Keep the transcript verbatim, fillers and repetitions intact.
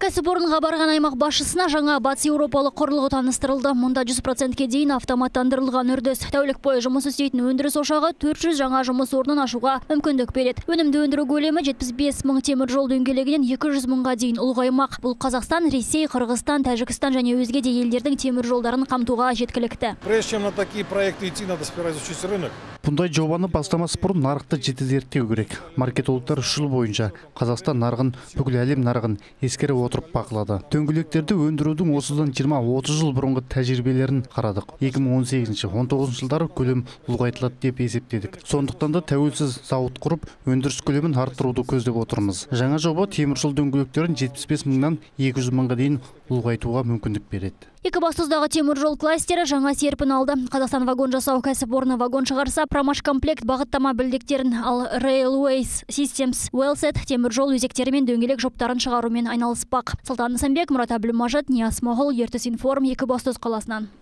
Кәсіпорынға барған аймақ басшысына жаңа батыс еуропалық құрылғы таныстырылды. Мұнда жүз процентке дейін автоматтандырылған үрдіс. Тәулік бойы жұмыс істейтін өндіріс ошағы төрт жүз жаңа жұмыс орнын ашуға мүмкіндік береді. Өнімді өндіру көлемі жетпіс бес мың темір жол дөңгелегінен екі жүз мыңға дейін ұлғаймақ. Бұл Қазақстан, Ресей, Қырғызстан, Тәжікстан және өзге де елдердің темір жолдарын қамтуға жеткілікті. Прежде чем на такие проекты идти, надо сперва изучить рынок. Бұндай жобаны бастамас бұрын нарықты жіті зерттеу керек. Маркетологтар үш жыл бойынша Қазақстан нарығын, бүкіл әлем нарығын ескере отырып бақылады. Дөңгелектерді өндірудің осыдан жиырма отыз жыл бұрынғы тәжірибелерін қарадық. екі мың он сегізінші он тоғызыншы жылдары көлем ұлғайтылады деп есептедік. Сондықтан да тәуелсіз зауыт құрып, өндіріс көлемін арттыруды көздеп отырмыз. Жаңа жоба темір жол дөңгелектерін жетпіс бес мыңнан екі жүз мыңға дейін ұлғайтуға мүмкіндік береді. Екібастұздағы темір жол кластері жаңа серпін алды. Қазақстан вагон жасау кәсіпорны вагон шығарса, Промашкомплект бағыттама білдектерін, ал Railways Systems Wellset темір жол өзектері мен дөңгелек жоптарын шығарумен айналыспақ. Салтан Нысанбек, Мұрат Әбілмажит, Нияз Смағұл, Ертіс Информ, Екібастұз қаласынан.